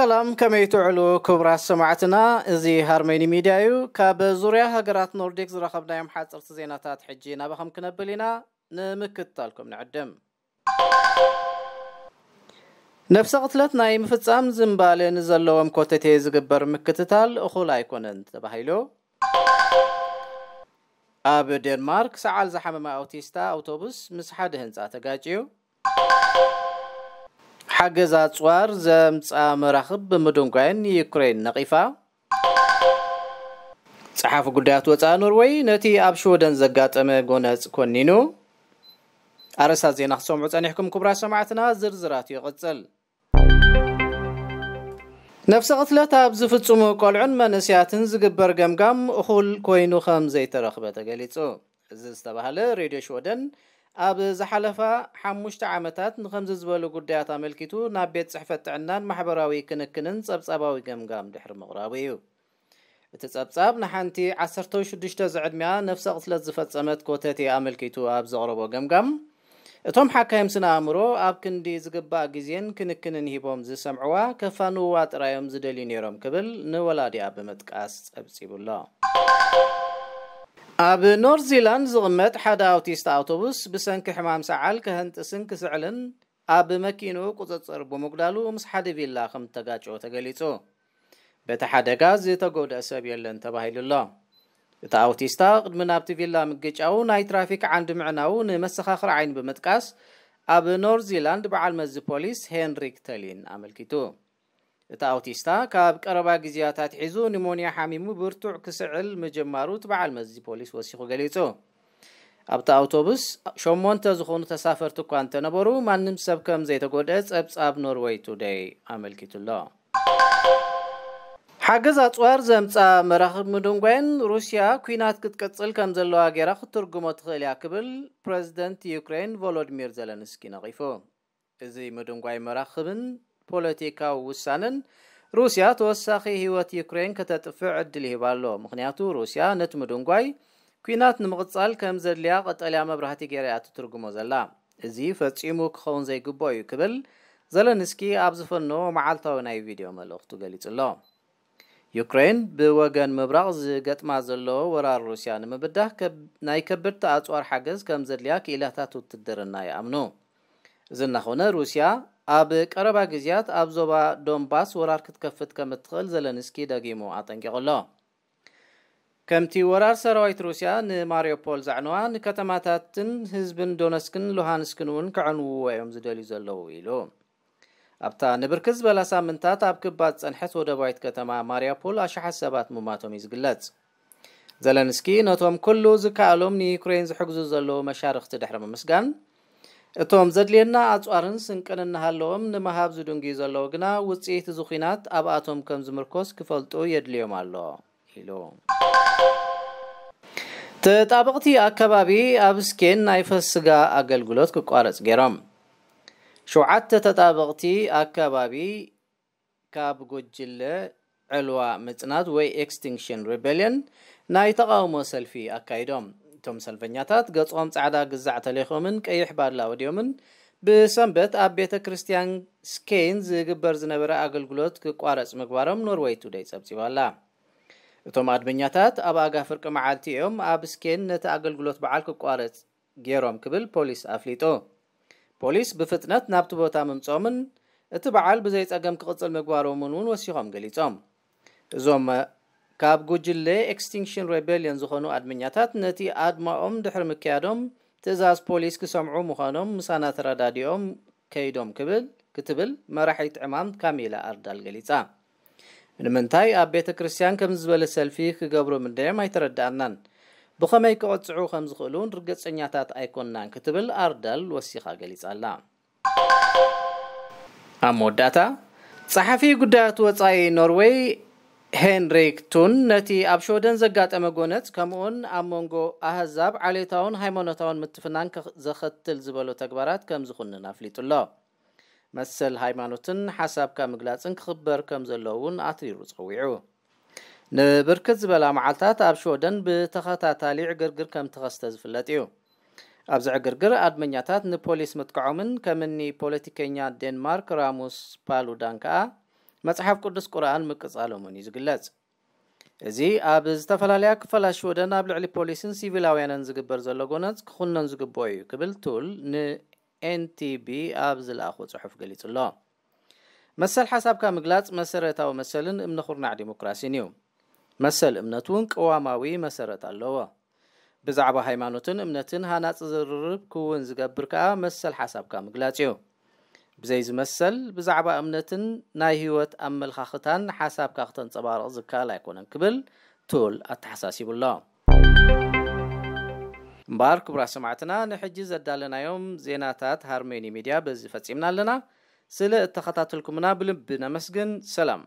ሰላም፣ ከመይ ትውዕሉ ክቡራት ሰማዕትና? እዚ ሃርመኒ ሚድያ እዩ። ካብ ዙርያ ሃገራት ኖርዲክ ዝረኸብናዮም ሓፀርቲ ዜናታት ሕጂ ናባኹም ክነብል ኢና። ንምክትታልኩም ንዕድም። ነፍሰ ቅትለት ናይ ምፍጻም ዝንባለ ንዘለዎም ኮተቴ ዝግበር ምክትታል እኹል ኣይኮነን ተባሂሉ። ኣብ ዴንማርክ ሰዓል ዝሓመመ ኣውቲስታ ኣውቶቡስ ምስ ሓደ ህንጻ ተጋጭዩ። ሓገዝ ኣጽዋር ዘምጻ መራኽብ ብምድንጓይን ዩክሬን ነቒፋ። ጸሓፊ ጉዳያት ወጻኢ ኖርወይ ነቲ ኣብ ሽወደን ዘጋጠመ ጎነጽ ኮኒኑ። ኣርእስታት ዜና ክትሰምዑ ጸኒሕኩም ክቡራት ሰማዕትና፣ ዝርዝራቱ ይቕጽል። ነፍሰ ቅትለት ኣብ ዝፍጽሙ ቆልዑን መንእስያትን ዝግበር ገምጋም እኹል ኮይኑ ከም ዘይተረኽበ ተገሊጹ። እዚ ዝተባህለ ሬድዮ ሽወደን ኣብ ዝሓለፋ ሓሙሽተ ዓመታት ንኸምዚ ዝበሉ ጉዳያት ኣመልኪቱ ናብ ቤት ጽሕፈት ጥዕናን ማሕበራዊ ክንክንን ጸብጻባዊ ገምጋም ድሕሪ ምቕራቡ እዩ። እቲ ጸብጻብ ንሓንቲ ዓሰርተ ሽዱሽተ ዝዕድሚያ ነፍሰ ቅትለት ዝፈጸመት ኮተቴ ኣመልኪቱ ኣብ ዘቕረቦ ገምጋም፣ እቶም ሓካይም ስነ ኣእምሮ ኣብ ክንዲ ዝግባእ ግዜን ክንክንን ሂቦም ዝሰምዕዋ ከፋንውዋ ጥራዮም ዝደልዩ ነይሮም ክብል ንወላዲኣ ብምጥቃስ ጸብጺቡ ኣሎ። ኣብ ኖርዝ ዚላንድ ዝቕመጥ ሓደ ኣውቲስት ኣውቶቡስ ብሰንኪ ሕማም ሰዓል ከህንጥስን ክስዕልን ኣብ መኪንኡ ቁጽጽር ብምጉዳሉ ምስ ሓደ ቪላ ከም ተጋጨወ ተገሊጹ። በቲ ሓደጋ ዝተጎድአ ሰብ የለን ተባሂሉ ኣሎ። እቲ ኣውቲስታ ቅድሚ ናብቲ ቪላ ምግጫው ናይ ትራፊክ ዓንዲ ምዕናው ንመሰኻኽር ዓይኒ ብምጥቃስ ኣብ ኖርዝ ዚላንድ በዓል መዚ ፖሊስ ሄንሪክ ተሊን ኣመልኪቱ። እቲ ኣውቲስታ ካብ ቀረባ ግዜያት ኣትሒዙ ኒሞንያ ሓሚሙ ብርቱዕ ክስዕል ምጅማሩ እቲ በዓል መዚ ፖሊስ ወሲኹ ገሊጹ። ኣብቲ ኣውቶቡስ ሸሞንተ ዝኾኑ ተሳፈርቲ እኳ እንተነበሩ፣ ማንም ሰብ ከም ዘይተጎድአ ጸብጻብ ኖርወይ ቱደይ ኣመልኪቱ ኣሎ። ሓገዝ ኣጽዋር ዘምጻ መራኽብ ምድንጓይን ሩስያ ኲናት ክትቅጽል ከም ዘለዋ ገይራ ክትትርጉሞ ትኽእል እያ ክብል ፕረዚደንት ዩክሬን ቮሎዲሚር ዘለንስኪ ነቒፉ። እዚ ምድንጓይ መራኽብን ፖለቲካዊ ውሳነን ሩስያ ተወሳኺ ህይወት ዩክሬን ከተጥፍእ ዕድል ይህባ ኣሎ። ምኽንያቱ ሩስያ ነቲ ምድንጓይ ኲናት ንምቕጻል ከም ዘድልያ ቀጠልያ መብራህቲ ገይራ እያ ትትርጉሞ ዘላ። እዚ ፈጺሙ ክኸውን ዘይግብኦ እዩ ክብል ዘለንስኪ ኣብ ዝፈነዎ መዓልታዊ ናይ ቪድዮ መልእኽቱ ገሊጹ ኣሎ። ዩክሬን ብወገን ምብራቕ ዝገጥማ ዘሎ ወራር ሩስያ ንምብዳህ ከብ-፣ ናይ ከበድቲ ኣጽዋር ሓገዝ ከም ዘድልያ ክኢላታት ውትድርና ይኣምኑ። እዚ እናኾነ ሩስያ ኣብ ቀረባ ግዜያት ኣብ ዞባ ዶንባስ ወራር ክትከፍት ከም እትኽእል ዘለንስኪ ደጊሙ ኣጠንቂቑ ኣሎ። ከምቲ ወራር ሰራዊት ሩስያ ንማሪዮፖል ዘዕነዋ፣ ንከተማታትን ህዝብን ዶነስክን ሉሃንስክን እውን ከዕንውዎ እዮም ዝደልዩ ዘለዉ ኢሉ። ኣብታ ንብርክት ዝበላ ሳምንታት ኣብ ክባ ዝጸንሐት ወደባዊት ከተማ ማሪያፖል ኣሽሓት ሰባት ምማቶም እዩ ዝግለጽ። ዘለንስኪ ነቶም ኩሉ ዝከኣሎም ንዩክሬን ዝሕግዙ ዘለዉ መሻርኽቲ ድሕሪ ምምስጋን፣ እቶም ዘድልየና ኣጽዋርን ስንቅን እናሃለዎም ንምሃብ ዝድንግዩ ዘለዉ ግና ውጽኢት እዚ ኲናት ኣብኣቶም ከም ዝምርኮስ ክፈልጡ የድልዮም ኣሎ ኢሉ። ተጣበቕቲ ኣከባቢ ኣብ ስኬን ናይ ፈስጋ ኣገልግሎት ክቋረጽ ገይሮም። ሸውዓተ ተጣበቕቲ ኣከባቢ ካብ ጉጅለ ዕልዋ ምጽናት ወይ ኤክስቲንክሽን ሪቤልየን ናይ ተቓውሞ ሰልፊ ኣካይዶም። እቶም ሰልፈኛታት ገጾም ጻዕዳ ግዛዕ ተሌኾምን ቀይሕ ባድላ ወዲዮምን ብሰንበት ኣብ ቤተ ክርስቲያን ስኬን ዝግበር ዝነበረ ኣገልግሎት ክቋረጽ ምግባሮም ኖርወይ ቱደይ ጸብጺባ ኣላ። እቶም ኣድመኛታት ኣብ ኣጋ ፍርቂ መዓልቲ እዮም ኣብ ስኬን ነቲ ኣገልግሎት በዓል ክቋረጽ ገይሮም ክብል ፖሊስ ኣፍሊጡ። ፖሊስ ብፍጥነት ናብቲ ቦታ ምምጾምን እቲ በዓል ብዘይ ጸገም ክቕጽል ምግባሮምን እውን ወሲኾም ገሊጾም። እዞም ካብ ጉጅለ ኤክስቲንክሽን ሬቤልዮን ዝኾኑ ኣድመኛታት ነቲ ኣድማኦም ድሕሪ ምክያዶም ትእዛዝ ፖሊስ ክሰምዑ ምዃኖም ምሳና ተረዳዲኦም ከይዶም ክብል ክትብል መራሒት ዕማም ካሚላ ኣርዳል ገሊጻ። ንምንታይ ኣብ ቤተ ክርስቲያን ከምዚ ዝበለ ሰልፊ ክገብሩ ምንደዮም ኣይተረዳኣናን። ብኸመይ ክቕጽዑ ከም ዝኽእሉ እውን ርግጸኛታት ኣይኮንናን ክትብል ኣርዳል ወሲኻ ገሊጻ ኣላ። ኣብ መወዳእታ፣ ጸሓፊ ጉዳያት ወጻኢ ኖርዌይ ሄንሪክ ቱን ነቲ ኣብ ሽወደን ዘጋጠመ ጎነጽ ከምኡውን ኣብ መንጎ ኣህዛብ ዓሌታውን ሃይማኖታውን ምትፍናን ከ-፣ ዘኸትል ዝበሎ ተግባራት ከም ዝኹንን ኣፍሊጡ ኣሎ። መሰል ሃይማኖትን ሓሳብካ ምግላጽን ክኽበር ከም ዘለዎ እውን ኣትሪሩ ጸዊዑ። ንብርክት ዝበላ መዓልታት ኣብ ሽወደን ብተኸታታሊ ዕግርግር ከም ተኸስተ ዝፍለጥ እዩ። ኣብዚ ዕግርግር ኣድመኛታት ንፖሊስ ምጥቃዖምን ከምኒ ፖለቲከኛ ዴንማርክ ራሙስ ፓሉዳን ከኣ መጽሓፍ ቅዱስ ቁርኣን ምቅጻሎም እውን እዩ ዝግለጽ። እዚ ኣብ ዝተፈላለያ ክፋላት ሽወደን ኣብ ልዕሊ ፖሊስን ሲቪላውያንን ዝግበር ዘሎ ጎነጽ ክኹነን ዝግብኦ እዩ ክብል ቱል ንኤንቲቢ ኣብ ዝለኣኾ ጽሑፍ ገሊጹ ኣሎ። መሰል ሓሳብካ ምግላጽ መሰረታዊ መሰልን እምነ ኩርናዕ ዲሞክራሲን እዩ። መሰል እምነት እውን ቅዋማዊ መሰረት ኣለዎ። ብዛዕባ ሃይማኖትን እምነትን ሃናጺ ዝርርብ ክውን ዝገብር ከኣ መሰል ሓሳብካ ምግላጽ እዩ። ብዘይ ዝመሰል ብዛዕባ እምነትን ናይ ህይወት ኣመልኻኽታን ሓሳብካ ክተንጸባርቕ ዝከኣል ኣይኮነን ክብል ቱል ኣተሓሳሲቡ ኣሎ። እምበኣር ክቡራት ሰማዕትና ንሕጂ ዘዳለናዮም ዜናታት ሃርሜኒ ሚድያ በዚ ፈጺምና ኣለና። ስለ እተኸታተልኩምና ብልቢ ነመስግን። ሰላም።